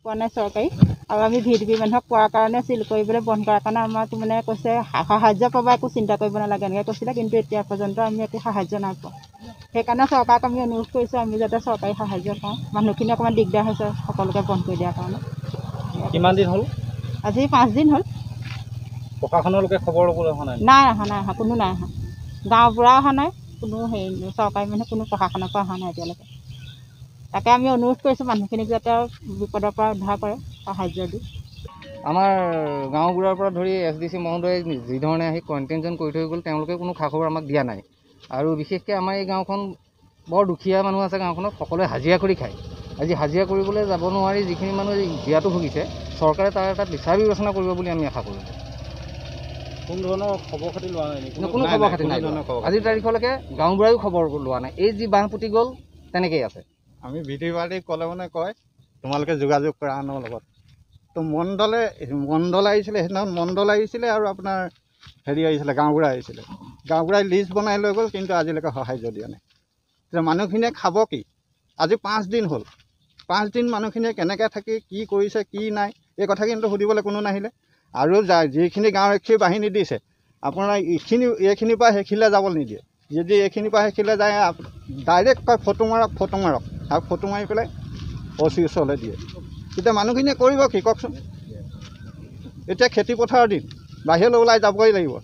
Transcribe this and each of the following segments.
পোৱা নাই চৰকাৰী। আৰু আমি ভি ডি পি মানুহক কোৱাৰ কাৰণে চিল কৰিবলৈ বন্ধ কৰাৰ কাৰণে আমাক মানে কৈছে সাহাৰ্য পাবা, একো চিন্তা কৰিব নালাগে এনেকৈ কৈছিলে। কিন্তু এতিয়া পৰ্যন্ত আমি একো সাহাৰ্য নাই পোৱা। সেইকাৰণে চৰকাৰক আমি অনুৰোধ কৰিছোঁ আমি যাতে চৰকাৰী সাহাৰ্য পাওঁ। মানুহখিনি অকণমান দিগদাৰ হৈছে সকলোকে বন্ধ কৰি দিয়াৰ কাৰণে। কিমান দিন হ'ল? আজি 5 দিন হ'ল। প্ৰশাসনৰ লোকে খবৰ ল'বলৈ অহা নাই? নাই অহা, নাই অহা, কোনো নাই অহা। গাঁওবুঢ়া অহা নাই, কোনো হেৰি চৰকাৰী মানুহ কোনো প্ৰশাসনৰ পৰা অহা নাই এতিয়ালৈকে। তাকে আমি অনুৰোধ কৰিছোঁ মানুহখিনিক যাতে বিপদৰ পৰা উদ্ধাৰ কৰে, সাহাৰ্য দি। আমাৰ গাঁওবুঢ়াৰ পৰা ধৰি এছ ডি চি মহোদয়ে যিধৰণে আহি কোৱাৰেণ্টাইন কৰি থৈ গ'ল, তেওঁলোকে কোনো খা খবৰ আমাক দিয়া নাই। আৰু বিশেষকৈ আমাৰ এই গাঁওখন বৰ দুখীয়া মানুহ আছে, গাঁওখনত সকলোৱে হাজিৰা কৰি খায়। আজি হাজিৰা কৰিবলৈ যাব নোৱাৰি যিখিনি মানুহে জীয়াতু ভুগিছে, চৰকাৰে তাৰ এটা বিচাৰ বিবেচনা কৰিব বুলি আমি আশা কৰোঁ। কোনো ধৰণৰ খবৰ খাতি লোৱা নাই নেকি? কোনো খবৰ খাতি নাই। আজিৰ তাৰিখলৈকে গাঁওবুঢ়ায়ো খবৰ লোৱা নাই। এই যি বাঁহ পুতি গ'ল তেনেকেই আছে। আমি ভি ডি পাৰ্টিক ক'লে মানে কয় তোমালোকে যোগাযোগ কৰা আনৰ লগত। তো মণ্ডল আহিছিলে সেইদিনাখন, মণ্ডল আহিছিলে আৰু আপোনাৰ হেৰি আহিছিলে, গাঁওবুঢ়া আহিছিলে। গাঁওবুঢ়াই লিষ্ট বনাই লৈ গ'ল, কিন্তু আজিলৈকে সাহাৰ্য দিয়া নাই। এতিয়া মানুহখিনিয়ে খাব কি? আজি 5 দিন হ'ল। 5 দিন মানুহখিনিয়ে কেনেকৈ থাকি কি কৰিছে কি নাই এই কথা কিন্তু সুধিবলৈ কোনো নাহিলে। আৰু যিখিনি গাঁওৰক্ষী বাহিনী দিছে আপোনাৰ এইখিনিৰ পৰা সেইখিনিলৈ যাবলৈ নিদিয়ে। যদি এইখিনিৰ পৰা সেইখিনিলৈ যায় ডাইৰেক্ট কয় ফটো মাৰক, ফটো মাৰক, আৰু ফটো মাৰি পেলাই অ' চি ওচৰলৈ দিয়ে। তেতিয়া মানুহখিনিয়ে কৰিব কি কওকচোন? এতিয়া খেতি পথাৰৰ দিন, বাহিৰলৈ ওলাই যাবই লাগিব।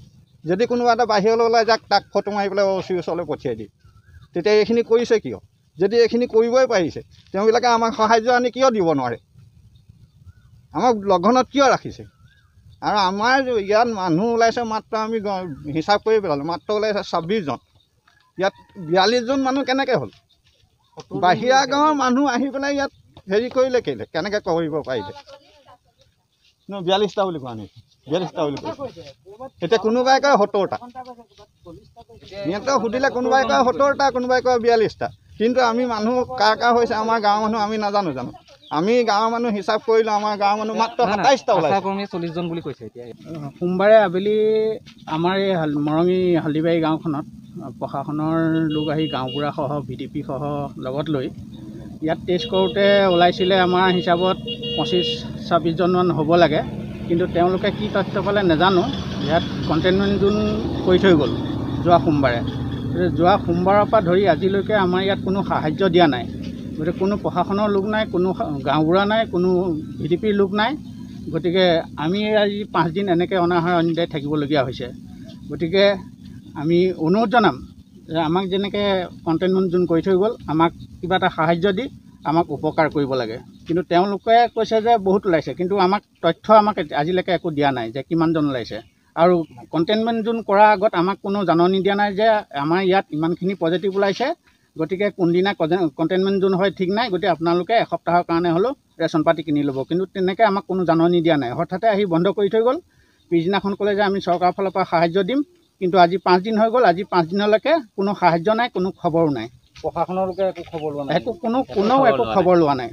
যদি কোনোবা এটা বাহিৰলৈ ওলাই যাক, তাক ফটো মাৰি পেলাই অ' চি ওচৰলৈ পঠিয়াই দিয়ে। তেতিয়া এইখিনি কৰিছে কিয়? যদি এইখিনি কৰিবই পাৰিছে, তেওঁবিলাকে আমাক সাহাৰ্য আনি কিয় দিব নোৱাৰে? আমাক লঘোণত কিয় ৰাখিছে? আৰু আমাৰ ইয়াত মানুহ ওলাইছে মাত্ৰ আমি হিচাপ কৰি পেলালোঁ, মাত্ৰ ওলাইছে 26জন। ইয়াত 42জন মানুহ কেনেকৈ হ'ল? বাহিৰা গাঁৱৰ মানুহ আহি পেলাই ইয়াত হেৰি কৰিলে কেলৈ, কেনেকৈ কৰিব পাৰিলে? ন 42টা বুলি কোৱা নাই, 42টা বুলি কৈছে। এতিয়া কোনোবাই কয় 70টা, সিহঁতক সুধিলে কোনোবাই কয় 70টা, কোনোবাই কয় 42টা। কিন্তু আমি মানুহ কাৰ কাৰ হৈছে আমাৰ গাঁৱৰ মানুহ আমি নাজানো জানো। আমি গাঁৱৰ মানুহ হিচাপ কৰিলোঁ, আমাৰ গাঁৱৰ মানুহ মাত্ৰ 27টা ওলাইছে। 40জন বুলি কৈছে। এতিয়া সোমবাৰে আবেলি আমাৰ এই মৰঙী হালদিবাৰী গাঁওখনত প্ৰশাসনৰ লোক আহি গাঁওবুঢ়াসহ ভি ডি পিসহ লগত লৈ ইয়াত টেষ্ট কৰোঁতে ওলাইছিলে আমাৰ হিচাপত 25-26জনমান হ'ব লাগে। কিন্তু তেওঁলোকে কি তথ্য পালে নাজানো। ইয়াত কণ্টেইনমেণ্ট জোন কৰি থৈ গ'ল যোৱা সোমবাৰে। যোৱা সোমবাৰৰ পৰা ধৰি আজিলৈকে আমাৰ ইয়াত কোনো সাহাৰ্য দিয়া নাই। গতিকে কোনো প্ৰশাসনৰ লোক নাই, কোনো গাঁওবুঢ়া নাই, কোনো ভি ডি পিৰ লোক নাই। গতিকে আমি আজি 5 দিন এনেকৈ অনাহাৰ অনিদ্ৰাই থাকিবলগীয়া হৈছে। গতিকে আমি অনুৰোধ জনাম যে আমাক যেনেকৈ কণ্টেইনমেণ্ট জোন কৰি থৈ গ'ল, আমাক কিবা এটা সাহাৰ্য দি আমাক উপকাৰ কৰিব লাগে। কিন্তু তেওঁলোকে কৈছে যে বহুত ওলাইছে, কিন্তু আমাক তথ্য আমাক আজিলৈকে একো দিয়া নাই যে কিমানজন ওলাইছে। আৰু কণ্টেইনমেণ্ট জোন কৰাৰ আগত আমাক কোনো জাননী দিয়া নাই যে আমাৰ ইয়াত ইমানখিনি পজিটিভ ওলাইছে, গতিকে কোনদিনা কণ্টেইনমেণ্ট জোন হয় ঠিক নাই, গতিকে আপোনালোকে এসপ্তাহৰ কাৰণে হ'লেও ৰেচন পাতি কিনি ল'ব। কিন্তু তেনেকৈ আমাক কোনো জাননী দিয়া নাই। হঠাতে আহি বন্ধ কৰি থৈ গ'ল। পিছদিনাখন ক'লে যে আমি চৰকাৰৰ ফালৰ পৰা সাহাৰ্য দিম, কিন্তু আজি 5 দিন হৈ গ'ল। আজি 5 দিনলৈকে কোনো সাহাৰ্য নাই, কোনো খবৰো নাই। প্ৰশাসনৰ লোকে একো খবৰ লোৱা নাই, একো কোনো কোনেও একো খবৰ লোৱা নাই।